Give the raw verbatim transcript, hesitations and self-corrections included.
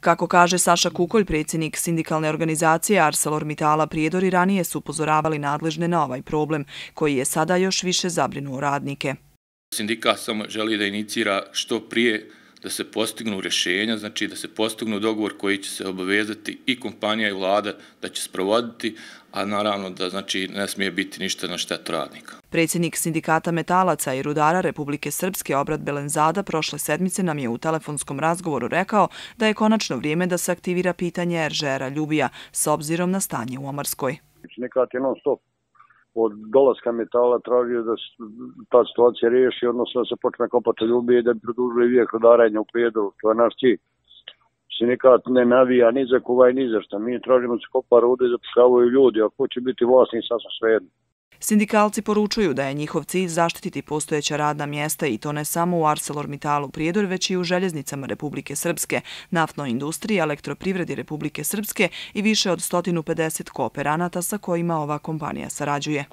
Kako kaže Saša Kukolj, predsjednik sindikalne organizacije ArcelorMittala Prijedor, i ranije su upozoravali nadležne na ovaj problem, koji je sada još više zabrinuo radnike. Sindikat samo želi da inicira što prije da se postignu rješenja, znači da se postignu dogovor koji će se obavezati i kompanija i vlada da će sprovoditi, a naravno da znači ne smije biti ništa na štetu radnika. Predsjednik sindikata metalaca i rudara Republike Srpske Obrat Belenzada prošle sedmice nam je u telefonskom razgovoru rekao da je konačno vrijeme da se aktivira pitanje Eržera Ljubija s obzirom na stanje u Omarskoj. Sindikat je non stop od dolaska metala tražio da se ta situacija riješi, odnosno da se počne kopati Ljubije i da bi produžili vijek rudarenja u Prijedoru. To je naš cilj. Sindikat ne navija ni za Kuvaj ni za šta. Mi tražimo da se kopa rude i zapošljavaju ljudi, a ko će biti vlasnik sasvim svejedno. Sindikalci poručuju da je njihov cilj zaštititi postojeća radna mjesta i to ne samo u ArcelorMittalu Prijedor, već i u željeznicama Republike Srpske, naftnoj industriji, elektroprivredi Republike Srpske i više od sto pedeset kooperanata sa kojima ova kompanija sarađuje.